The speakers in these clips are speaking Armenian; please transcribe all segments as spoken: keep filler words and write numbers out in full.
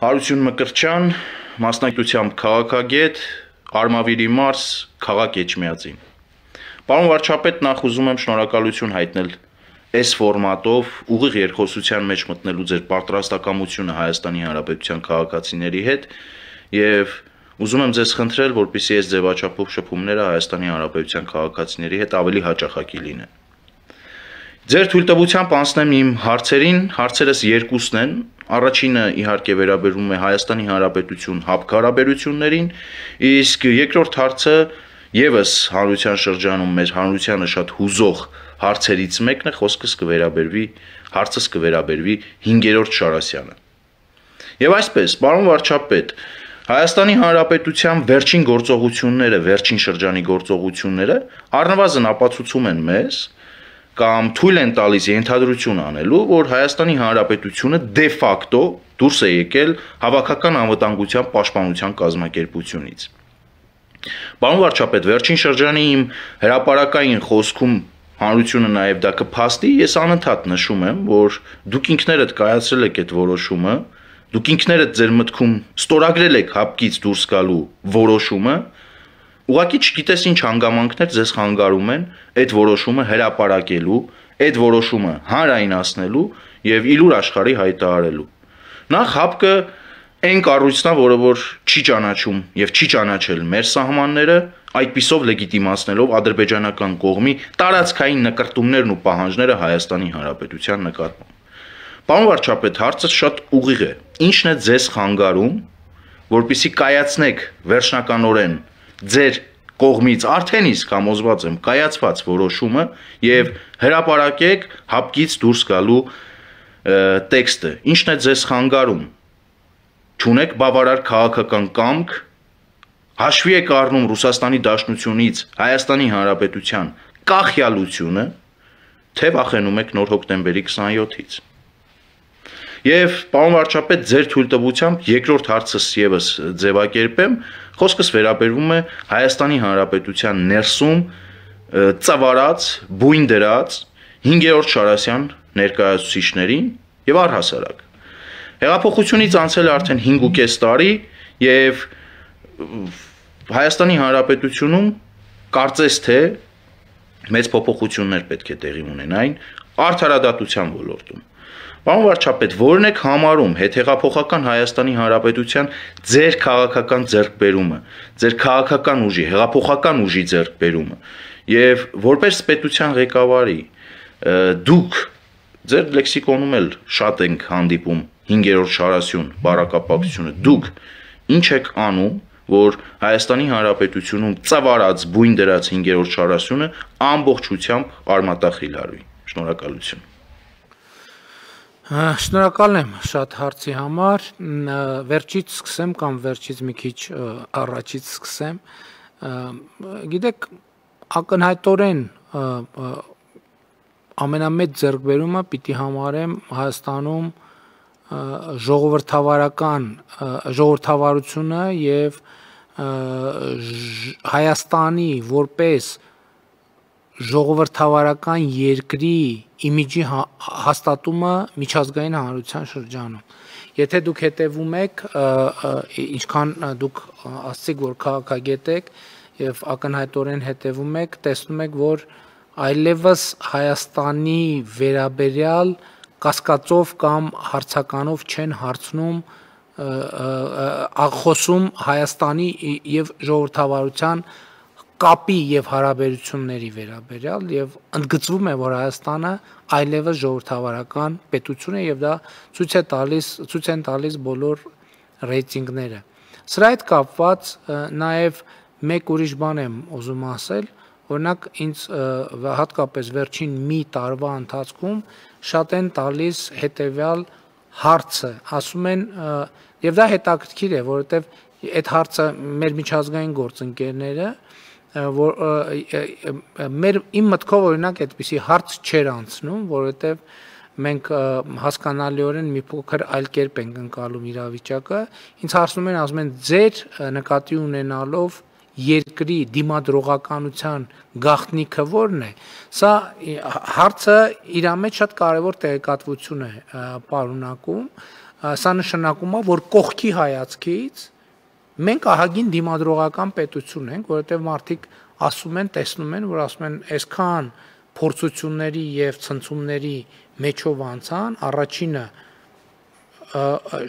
Հարություն Մկրտչյան, մասնակցությամբ քաղաքագետ, Արմավիրի Մարս, քաղաք Էջմիածին։ Պարոն վարչապետ, նախ ուզում եմ շնորհակալություն հայտնել այս ֆորմատով ուղիղ երկխոսության մեջ մտնելու ձեր պատրաստակամությունը Հայաստանի Հանրապետության քաղաքացիների հետ եւ ուզում եմ ձեզ խնդրել, որպեսզի այս ձևաչափով շփումները Հայաստանի Հանրապետության քաղաքացիների հետ ավելի հաճախակի լինեն։ Ձեր թույլտվությամբ անցնեմ իմ հարցերին, հարցերս երկուսն են։ Առաջինը իհարկե վերաբերում է Հայաստանի Հանրապետություն ՀԱՊԿ հարաբերություններին, իսկ երկրորդ հարցը եւս հանրության շրջանում մեր հանրությանը շատ հուզող հարցերից մեկն է, խոսքս կվերաբերվի, հարցս կվերաբերվի հինգերորդ Շարասյանը։ Եվ այսպես, պարոն վարչապետ, Հայաստանի Հանրապետության վերջին գործողությունները, վերջին շրջանի գործողությունները առնվազն ապացուցում են մեզ կամ թույլ են տալիս ենթադրություն անելու, որ Հայաստանի Հանրապետությունը դե ֆակտո դուրս է եկել հավաքական անվտանգության պաշտպանության կազմակերպությունից։ Պարոն վարչապետ, վերջին շրջանի իմ հրապարակային խոսքում հանրությունը նաև դա կփաստի, ես անընդհատ նշում եմ, որ դուք ինքներդ կայացրել եք այդ որոշումը, դուք ինքներդ ձեր մտքում ստորագրել եք ՀԱՊԿ-ից դուրս գալու որոշումը, ուղղակի չգիտես ինչ հանգամանքներ ձեզ խանգարում են այդ որոշումը հրապարակելու, այդ որոշումը հանրայնացնելու եւ իլուր աշխարհի հայտարարելու։ Նախ ՀԱՊԿ-ը այն կառույցն է, որը որ չի ճանաչում եւ չի ճանաչել մեր սահմանները, այդպիսով լեգիտիմացնելով ադրբեջանական կողմի տարածքային նկարտումներն ու պահանջները Հայաստանի Հանրապետության նկատմամբ։ Պարոն վարչապետ, հարցը շատ ուղիղ է։ Ինչն է ձեզ խանգարում, որպեսզի կայացնեք վերջնականորեն ձեր կողմից արդեն իսկ համոզված եմ կայացված որոշումը եւ հրապարակեք ՀԱՊԿ-ից դուրս գալու տեքստը։ Ինչն է ձեզ խանգարում։ Չունեք բավարար քաղաքական կամք, հաշվի եք առնում Ռուսաստանի Դաշնությունից Հայաստանի Հանրապետության կախյալությունը, թե վախենում եք նոր հոկտեմբերի քսաներորդ-ից։ Եվ պարոն վարչապետ, ձեր թույլտվությամբ երկրորդ հարցս եւս ձևակերպեմ, խոսքս վերաբերվում է Հայաստանի Հանրապետության ներսում ծավալած, բույն դրած հինգերորդ Շարասյան ներկայացուցիչներին եւ առհասարակ։ Հեղափոխությունից անցել է արդեն հինգ ու կես տարի եւ Հայաստանի Հանրապետությունում կարծես թե մեծ փոփոխություններ պետք է տեղի ունենային արդարադատության ոլորտում։ Պարոն վարչապետ, որն եք համարում հետհեղափոխական Հայաստանի Հանրապետության ձեր քաղաքական ձեռքբերումը, ձեր քաղաքական ուժի, հեղափոխական ուժի ձեռքբերումը եւ որպես պետության ղեկավարի դուք ձեր լեքսիկոնում էլ շատ ենք հանդիպում հինգերորդ Շարասյուն բառակապակցությունը, դուք ինչ եք անում, որ Հայաստանի Հանրապետությունում ծավալած բույն դրած հինգերորդ Շարասյունը ամբողջությամբ արմատախիլ արվի։ Շնորհակալություն։ Շնորհակալ եմ շատ հարցի համար, վերջից սկսեմ կամ վերջից մի քիչ առաջից սկսեմ, գիտեք, ակնհայտորեն ամենամեծ ձեռքբերումը պիտի համարեմ Հայաստանում ժողովրդավարական ժողովրդավարությունը եւ Հայաստանի որպես ժողովրդավարական երկրի իմիջի հաստատումը միջազգային հանրության շրջանում։ Եթե դուք հետևում եք, ինչքան դուք ասացիք, որ քաղաքագետ եք եւ ակնհայտորեն հետևում եք, տեսնում եք, որ այլևս Հայաստանի վերաբերյալ կասկածով կամ հարցականով չեն հարցնում աղխոսում Հայաստանի եւ ժողովրդավարության կապի եւ հարաբերությունների վերաբերյալ եւ ընդգծվում է, որ Հայաստանը այլևս ժողովրդավարական պետություն է եւ դա ցույց է տալիս ցույց են տալիս բոլոր ռեյտինգները։ Սրա հետ կապված նաեւ մեկ ուրիշ բան եմ ուզում ասել, օրինակ ինձ հատկապես վերջին մի տարվա ընթացքում շատ են տալիս հետեւյալ հարցը, ասում են եւ դա հետաքրքիր է, որովհետեւ այդ հարցը մեր միջազգային գործընկերները որ մեր իմ մտքով օրինակ այդպիսի հարց չէր անցնում, որովհետև մենք հասկանալիորեն մի փոքր այլ կերպ ենք ընկալում իրավիճակը, ինձ հարցնում են, ասում են ձեր նկատի ունենալով երկրի դիմադրողականության գաղտնիքը ո՞րն է։ Սա հարցը իր մեջ շատ կարևոր տեղեկատվություն է պարունակում, սա նշանակում է, որ կողքի հայացքից մենք ահագին դիմադրողական պետություն ենք, որովհետև մարդիկ ասում են, տեսնում են, որ ասում են, այսքան փորձությունների եւ ցնցումների մեջով անցան, առաջինը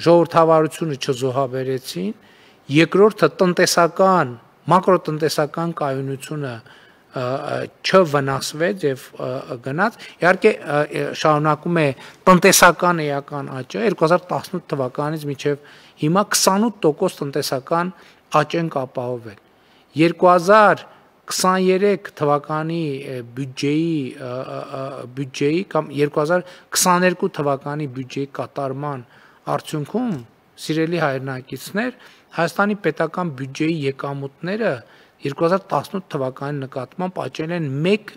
ժողովրդավարությունը չզոհաբերեցին, երկրորդը տնտեսական, մակրոտնտեսական կայունությունը չվնասվեց եւ գնաց, իհարկե շարունակում է տնտեսական էական աճը երկու հազար տասնութ թվականից մինչեւ հիմա քսանութ տոկոս տնտեսական աճ են ապահովել։ երկու հազար քսաներեք թվականի բյուջեի բյուջեի կամ երկու հազար քսաներկու թվականի բյուջեի կատարման արդյունքում սիրելի հայրենակիցներ Հայաստանի պետական բյուջեի եկամուտները երկու հազար տասնութ թվականի նկատմամբ աճել են մեկ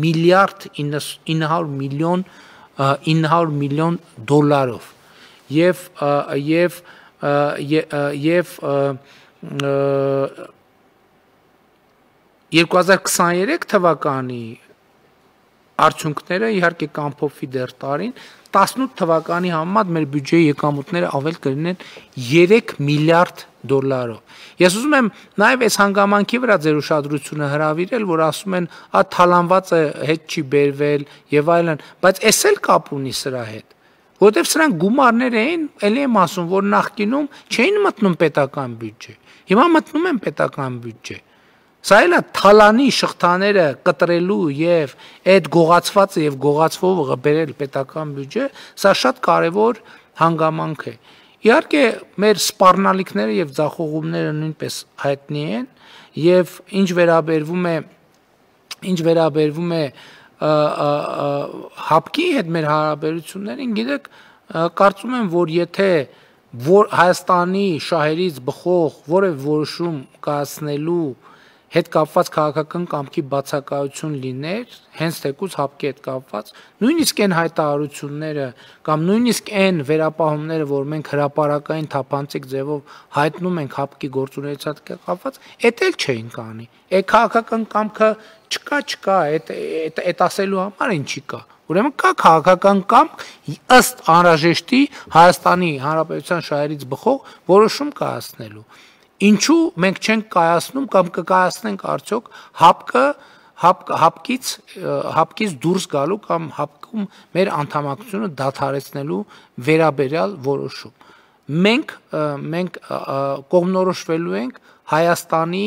միլիարդ ինը հարյուր միլիոն ինը հարյուր միլիոն դոլարով եւ եւ եւ երկու հազար քսաներեք թվականի արդյունքները իհարկե կամփոփվի դեռ տարին տասնութ թվականի համեմատ մեր բյուջեի եկամուտները ավել կլինեն երեք միլիարդ դոլարով։ Ես ուզում եմ նաև այս հանգամանքի վրա ձեր ուշադրությունը հրավիրել, որ ասում են, «Ա թալանվածը հետ չի բերվել» եւ այլն, բայց էս էլ կապ ունի սրա հետ, որովհետեւ սրանք գումարներ էին, ելի եմ ասում, որ նախկինում չէին մտնում պետական բյուջե։ Հիմա մտնում են պետական բյուջե։ Սա էլ է թալանի շղթաները կտրելու եւ այդ գողացվածը եւ գողացվողը բերել պետական բյուջե, սա շատ կարեւոր հանգամանք է։ Իհարկե մեր սպառնալիքները եւ ձախողումները նույնպես հայտնի են եւ ինչ վերաբերվում է ինչ վերաբերվում է հապկի հետ մեր հարաբերություններին, գիտեք, կարծում եմ, որ եթե որ Հայաստանի շահերից բխող որևէ որոշում կայացնելու հետ կապված քաղաքական կամքի բացակայություն լիներ, հենց թեկուզ հապկի հետ կապված, նույնիսկ այն հայտարարությունները կամ նույնիսկ այն վերապահումները, որ մենք հրապարակային թափանցիկ ձևով հայտնում ենք հապկի գործունեության հետ կապված, էդ էլ չէին կանի։ Այդ քաղաքական կամքը չկա, չկա, այդ այդ ասելու համար ինչ չի կա։ Ուրեմն կա քաղաքական կամք ըստ անհրաժեշտի Հայաստանի Հանրապետության շահերից բխող որոշում կայացնելու։ Ինչու մենք չենք կայացնում կամ կկայացնենք արդյոք հապկը հապկից հապկից դուրս գալու կամ հապկում մեր անդամակցությունը դադարեցնելու վերաբերյալ որոշում։ Մենք մենք կողմնորոշվելու ենք Հայաստանի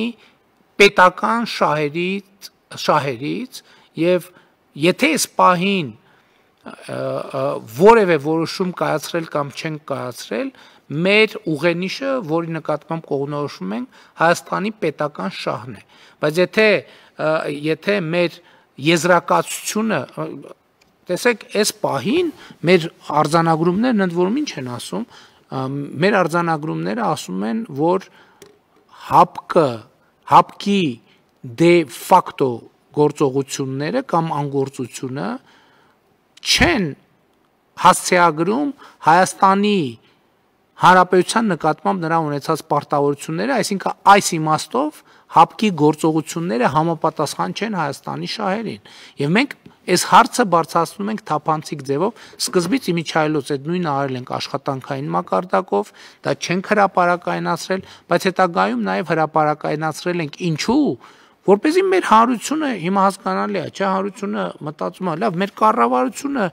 պետական շահերից շահերից եւ եթե այս պահին որևէ որոշում կայացրել կամ չենք կայացրել, մեր ուղենիշը, որի նկատմամբ կողմնորոշվում ենք, Հայաստանի պետական շահն է։ Բայց եթե եթե մեր եզրակացությունը, տեսեք, այս պահին մեր արձանագրումներն ընդ որում ինչ են ասում, մեր արձանագրումները ասում են, որ հապկը, հապկի դե ֆակտո գործողությունները կամ անգործությունը չեն հասցեագրում Հայաստանի Հանրապետության նկատմամբ նրա ունեցած պարտավորությունները, այսինքն այս իմաստով հապկի գործողությունները համապատասխան չեն Հայաստանի շահերին։ Եվ մենք այս հարցը բարձրացնում ենք թափանցիկ ձևով, սկզբից իմիջայլոց այդ նույնը արել ենք աշխատանքային մակարդակով, դա չենք հրապարակայնացրել, բայց հետագայում նաև հրապարակայնացրել ենք ինչու, որպեսզի մեր հանրությունը հիմա հասկանալի է, չէ, հանրությունը մտածում է, լավ, մեր կառավարությունը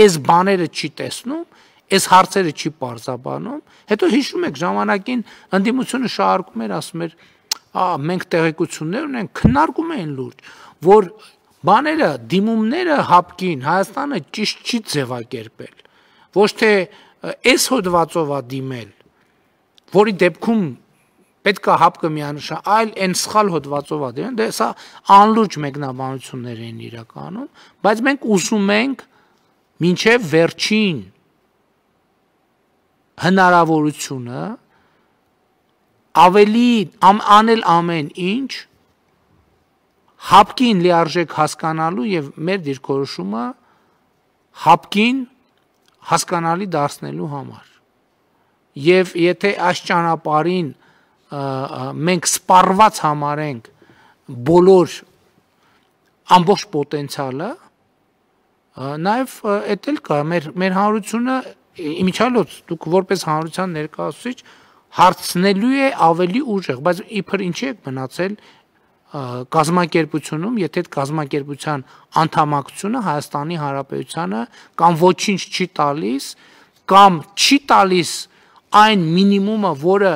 այս բաները չի տեսնում, այս հարցերը չի պարզաբանում, հետո հիշում եք ժամանակին ընդդիմությունը շարքում էր, ասում էր, «Ա, մենք տեղեկություններ ունենք», քննարկում էին լուրջ, որ բաները, դիմումները հապկին Հայաստանը ճիշտ չի ձևակերպել, ոչ թե այս հոդվածով է դիմել, որի դեպքում պետք է հապկը միանշան, այլ այն սխալ հոդվածով է դիմել, դե սա անլուրջ մեկնաբանություններ են իրականում, բայց մենք ուզում ենք մինչև վերջին հնարավորությունը ավելի անել ամեն ինչ հապկին լիարժեք հասկանալու եւ մեր դիրքորոշումը հապկին հասկանալի դարձնելու համար։ Եվ եթե այս ճանապարհին մենք սպառված համարենք բոլոր ամբողջ պոտենցիալը, նաև էդ էլ կա մեր մեր հանրությունը իմիջիալոց դուք որպես հանրության ներկայացուցիչ հարցնելու է ավելի ուժեղ, բայց իբր ինչի եք մնացել կազմակերպությունում, եթե այդ կազմակերպության անդամակցությունը Հայաստանի Հանրապետությանը կամ ոչինչ չի տալիս, կամ չի տալիս այն մինիմումը, որը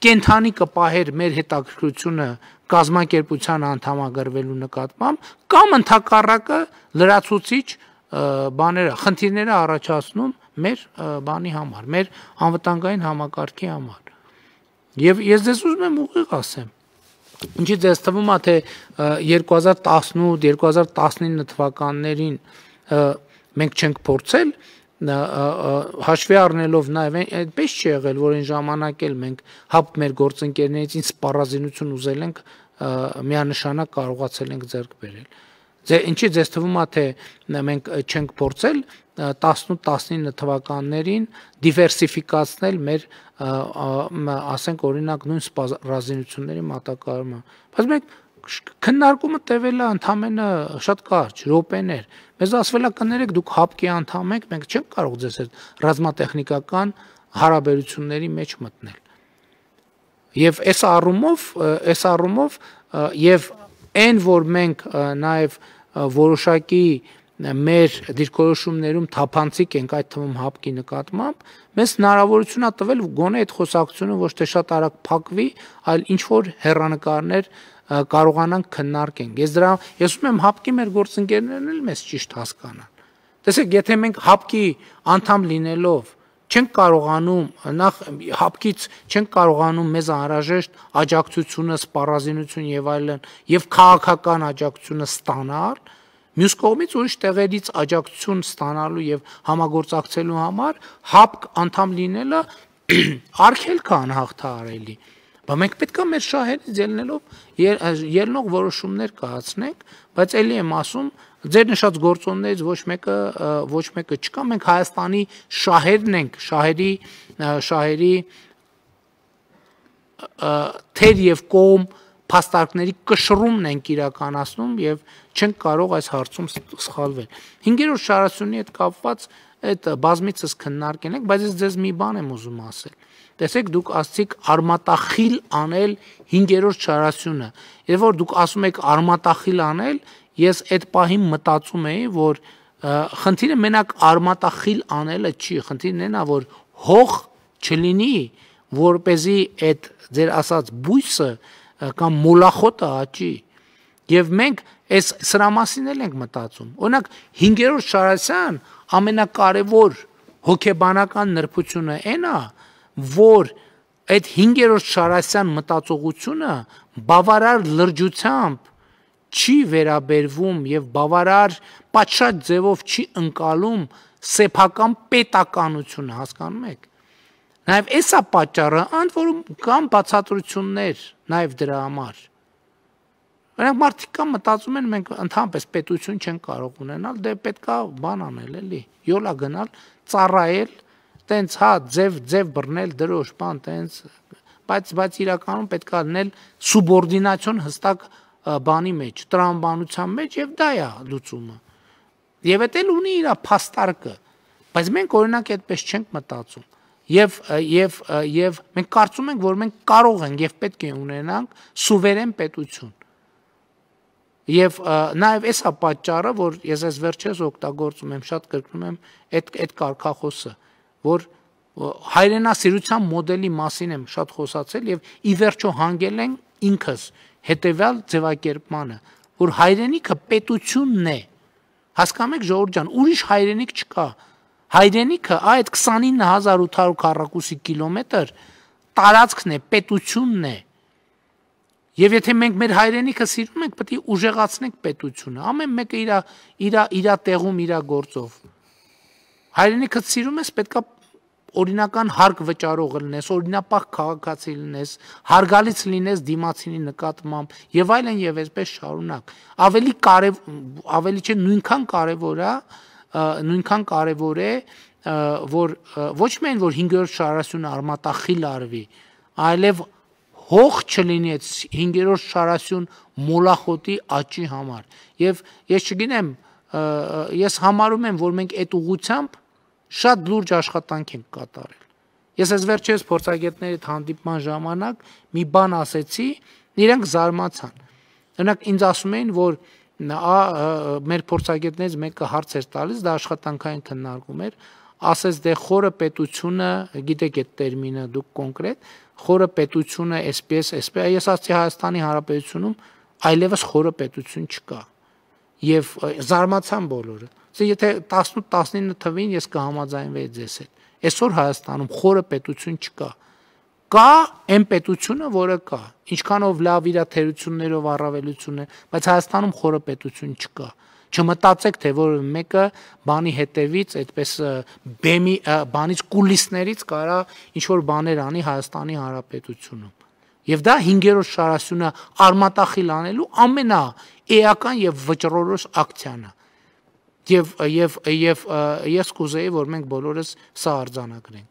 կենթանի կպահեր մեր հետաքրքրությունը կազմակերպության անդամագրվելու նկատմամբ, կամ ընդհակառակը լրացուցիչ բաները, խնդիրները առաջացնում մեր բանի համար, մեր անվտանգային համակարգի համար։ Եվ ես ձեզ ուզում եմ ուղիղ ասեմ, ինչի ձեզ թվում է, թե երկու հազար տասնութ երկու հազար տասնինը թվականներին մենք չենք փորձել, հաշվի առնելով նաև այդպես չի եղել, որ այն ժամանակ էլ մենք հապ մեր գործընկերներից ինչ սպառազինություն ուզել ենք, միանշանակ կարողացել ենք ձեռք բերել։ Ինչի ձեզ թվում է, թե մենք չենք փորձել տասնութ տասնինը թվականներին դիվերսիֆիկացնել մեր, ասենք օրինակ, նույն սպառազինությունների մատակարարումը, բայց մենք քննարկումը տևել է ընդամենը շատ կարճ րոպեներ, մեզ ասվել է կներեք դուք հապկի անդամ եք, մենք չենք կարող ձեզ այդ ռազմատեխնիկական հարաբերությունների մեջ մտնել։ Եվ այս առումով, այս առումով եւ այն, որ մենք նաև որոշակի մեր դիրքորոշումներում թափանցիկ ենք այդ թվում հապկի նկատմամբ, մեզ հնարավորություն է տվել գոնե այդ խոսակցությունը ոչ թե շատ արագ փակվի, այլ ինչ որ հեռանկարներ կարողանանք քննարկենք։ Ես դրա ես ուզում եմ հապկի մեր գործընկերներն էլ մեզ ճիշտ հասկանան։ Տեսեք, եթե մենք հապկի անդամ լինելով չենք կարողանում, նախ հապկից չենք կարողանում մեզ անհրաժեշտ աջակցությունը, սպառազինություն եւ այլն եւ քաղաքական աջակցությունը ստանալ, մյուս կողմից ուրիշ տեղերից աջակցություն ստանալու եւ համագործակցելու համար հապկ անդամ լինելը արգելք է անհաղթահարելի։ Բայց մենք պետք է մեր շահերից ելնելով ելնող որոշումներ կայացնենք, բայց ելի եմ ասում, ձեր նշած գործոններից ոչ մեկը ոչ մեկը չկա, մենք Հայաստանի շահերն ենք, շահերի շահերի թեր եւ կողմ փաստարկների կշռումն ենք իրականացնում եւ չենք կարող այս հարցում սխալվել։ Հինգերորդ շարասյունի հետ կապված այդ բազմիցս քննարկել ենք, բայց ես ձեզ մի բան եմ ուզում ասել։ Տեսեք, դուք ասցիք արմատախիլ անել հինգերորդ շարասյունը։ Եվ որ դուք ասում եք արմատախիլ անել, ես այդ պահին մտածում էի, որ խնդիրը մենակ արմատախիլ անելը չի, խնդիրն այն է, որ հող չլինի, որպեսզի այդ ձեր ասած բույսը կամ մոլախոտը աճի։ Եվ մենք այս սրա մասին էլ ենք մտածում։ Օրինակ հինգերորդ շարասյան ամենակարևոր հոգեբանական նրբությունը այն է, որ այդ հինգերորդ շարասյան մտածողությունը բավարար լրջությամբ չի վերաբերվում եւ բավարար պատշաճ ձևով չի ընկալում սեփական պետականությունը, հասկանում եք։ Նաեւ էսա պատճառը, ընդ որում կան բացատրություններ նաեւ դրա համար։ Նրանք մարդիկ կան մտածում են մենք ընդհանրապես պետություն չենք կարող ունենալ, դե պետքա բան անել էլի, յոլա գնալ, ծառայել, տենց հա ձև ձև բռնել դրոշ, բան տենց, բայց բայց իրականում պետքա լինել սուբորդինացիոն հստակ բանի մեջ, տրամաբանության մեջ եւ դա է լուծումը։ Եվ դա էլ ունի իր փաստարկը, բայց մենք օրինակ այդպես չենք մտածում։ Եվ եւ եւ մենք կարծում ենք, որ մենք կարող ենք եւ պետք է ունենանք սուվերեն պետություն։ Եվ նաեւ էսա պատճառը, որ ես այս վերջերս օգտագործում եմ, շատ կրկնում եմ այդ այդ կարգախոսը, որ հայրենասիրության մոդելի մասին եմ շատ խոսացել եւ ի վերջո հանգել են ինքս հետեւյալ ձևակերպմանը, որ հայրենիքը պետությունն է։ Հասկանում եք, ժողովուրդ ջան, ուրիշ հայրենիք չկա։ Հայրենիքը այդ քսանինը հազար ութ հարյուր քառակուսի կիլոմետր տարածքն է, պետությունն է։ Եվ եթե մենք մեր հայրենիքը սիրում ենք, պետք է ուժեղացնենք պետությունը։ Ամեն մեկը իր իր իր տեղում, իր գործով։ Հայրենիքը սիրում ես, պետքա օրինական հարկ վճարող լինես, օրինապահ քաղաքացի լինես, հարգալից լինես դիմացինի նկատմամբ եւ այլն եւ այսպես շարունակ։ Ավելի կարեւ ավելի չէ նույնքան կարեւոր է, նույնքան կարևոր է, որ ոչ միայն որ հինգերորդ շարասյունը արմատախիլ արվի, այլև հող չլինի այդ հինգերորդ շարասյուն մոլախոտի աճի համար։ Եվ ես չգիտեմ, ես համարում եմ, որ մենք այդ ուղղությամբ շատ լուրջ աշխատանք ենք կատարել։ Ես այս վերջերս փորձագետների հանդիպման ժամանակ մի բան ասեցի, իրենք զարմացան։ Օրինակ ինձ ասում էին, որ մեր փորձագետներից մեկը հարց էր տալիս, դա աշխատանքային քննարկում էր, ասես դե խորը պետությունը, գիտեք այդ տերմինը դուք կոնկրետ, խորը պետությունը այսպես, այսպես, ես ասացի Հայաստանի Հանրապետությունում այլևս խորը պետություն չկա։ Եվ զարմացան բոլորը։ Եթե տասնութ տասնինը թվին ես կհամաձայնվեի ձեզ հետ։ Այսօր Հայաստանում խորը պետություն չկա։ Կա այն պետությունը, որը կա, ինչքանով լավ իր թերություններով առավելություն է, բայց Հայաստանում խորը պետություն չկա։ Չմտածեք, թե որ մեկը բանի հետևից, այդպես բեմի բանից կուլիսներից կարա ինչ որ բաներ անի Հայաստանի Հանրապետությունում։ Եվ դա հինգերորդ շարասյունը արմատախիլ անելու ամենաէական եւ վճռորոշ ակցիան է։ Եվ եւ եւ ես կուզեի, որ մենք բոլորս սա արձանագրենք։